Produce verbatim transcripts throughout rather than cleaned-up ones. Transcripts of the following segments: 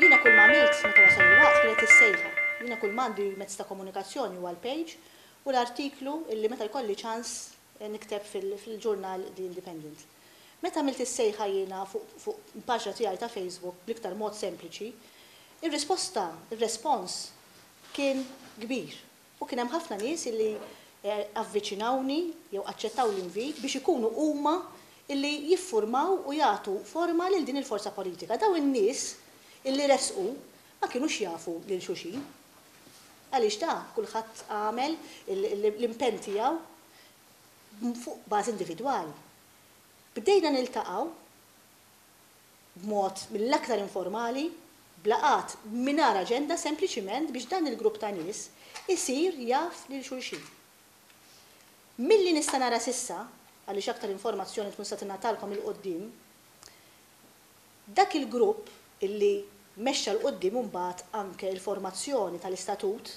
Jiena kull ma għamilt meta wasal il-waqt kienet is-sejħa. Jiena kull m'għandi mezz ta' komunikazzjoni huwa l-page u l-artiklu illi meta jkolli ċans nikteb fil-ġurnal The Independent. Meta għamilt is-sejħa jiena fuq paġna tiegħi ta' Facebook bl-iktar mod sempliċi, ir-risposta, ir-respons kien kbir. U kien hemm ħafna nies illi avviċinawni jew aċċettaw l-invit biex ikunu huma illi jiffurmaw u jagħtu forma lil din il-forza politika. Daw in-nies illi resqu ma kienux jafu lil xulxin. Għaliex da kulħadd għamel l-impenn tiegħu fuq bażi individwali. Bdejna niltaqgħu b'mod mill-aktar informali, b'laqgħat mingħajr aġenda, sempliċiment biex dan il-grupp ta' nies isir jaf lil xulxin. Milli nista' nara s'issa, għaliex aktar informazzjoni tkun se tingħatalkom 'il quddiem, dak il-grupp illi mexxa 'l quddiem imbagħad anke l-formazzjoni tal-istatut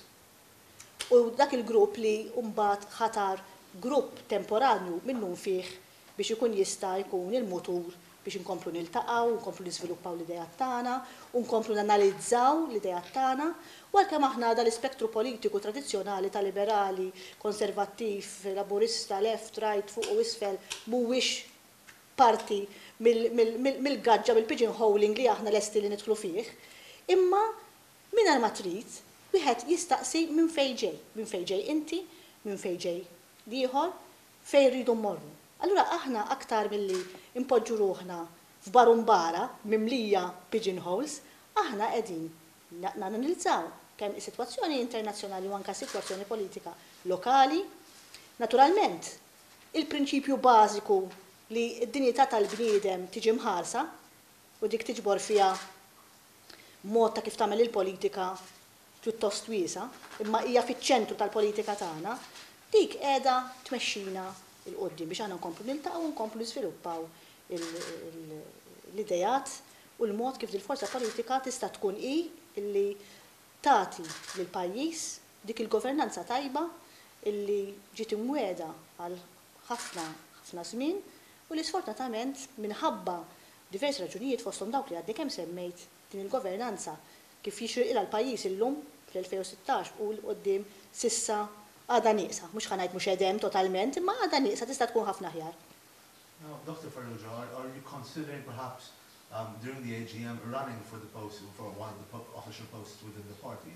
u dak il-grupp li mbagħad ħatar grupp temporanju minnu fih biex ikun jista' jkun il-mutur biex inkomplu niltaqgħu, nkomplu niżviluppaw l-idejat tagħna, u nkomplu nanalizzaw l-idejat tagħna, u għalkemm aħna dal-ispettru politiku tradizzjonali ta' liberali, konservattiv, laburista, left, right, fuq u isfel mhuwiex parti mill-gaġġa, mill-pigeonholing li aħna lesti li nidħlu fih, imma mingħajr ma trid, wieħed jistaqsi minn fejn ġej, minn fejn ġej inti, minn fejn ġej l-ieħor, fejn rridu mmorru. Allura aħna aktar milli impoġġu ruħna f'barumbara mimlija pigeonholes, aħna qegħdin nanalizzaw kemm is-sitwazzjoni internazzjonali u anke sitwazzjoni politika lokali. Naturalment, il-prinċipju bażiku li d-dinjità tal-bniedem tiġi mħarsa u dik tiġbor fiha mod ta' kif tagħmel il-politika pjuttost wiesa, imma hija fiċ-ċentru tal-politika tagħna, dik qiegħda tmexxina 'l quddiem biex aħna nkomplu niltaqgħu u nkomplu niżviluppaw l-idejat u l-mod kif dil-forza politika tista' tkun hi illi tagħti lil pajjiż dik il-governanza tajba illi ġiet imwiegħda għal ħafna ħafna żmien u li sfortunatament minħabba diversi raġunijiet, fosthom dawk li għadni kemm semmejt, din il-governanza kif jixirqilha l-pajjiż illum fl-elfejn u sittax u 'l quddiem s'issa għadha nieqsa. Mhux ħa ngħid mhux hemm totalment, imma għadha nieqsa, tista' tkun ħafna aħjar. Now, Doctor Farrugia, are, are you considering perhaps um, during the A G M running for the post, for one of the po official posts within the party?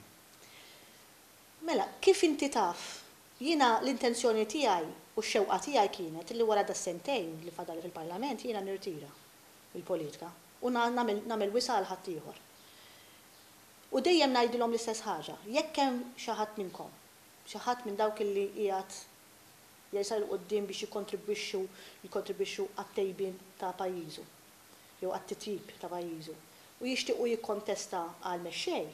Mela, kif inti taf, jiena l-intenzjoni tiegħi u x-xewqa tiegħi kienet li wara das-sentejn li fadali fil-Parlament jiena nirtira il-politika u nagħmel wisa' għal ħaddieħor. U dejjem ngħidilhom l-istess ħaġa, jekk hemm xi ħadd minnkom, xi ħadd minn dawk illi qiegħed jersaq 'il quddiem biex jikkontribwixxu jikkontribwixxu għat-tejbin ta' pajjiżu jew għat-titjib ta' pajjiżu u jixtiequ jikkontesta għal mexxej,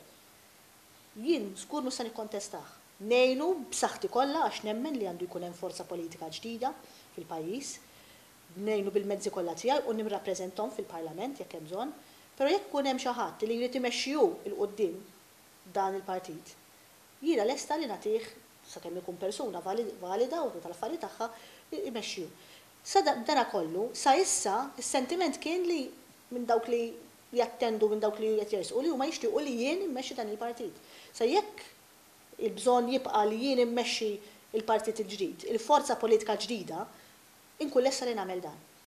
jien żgur mhux se nikkontestah. Ngħinu b'saħħti kollha għax nemmen li għandu jkun hemm forza politika ġdida fil-pajjiż, ngħinu bil-mezzi kollha tiegħi u nirrappreżentahom fil-Parlament jekk hemm bżonn, però jekk ikun hemm xi ħadd li jrid imexxi hu 'l quddiem dan il-partit, jiena lesta li nagħtih, sakemm ikun persuna valida u tal-affarijiet tagħha, imexxiju. Sa dana kollu, sa issa, is-sentiment kien li minn dawk li jattendu, minn dawk li qed jersqu, li huma jixtiequ li jien immexxi dan il-partit. Sa jekk il-bżonn jibqa' li jien immexxi il-partit il-ġdid, il-forza politika ġdida, inkun lesta li nagħmel dan.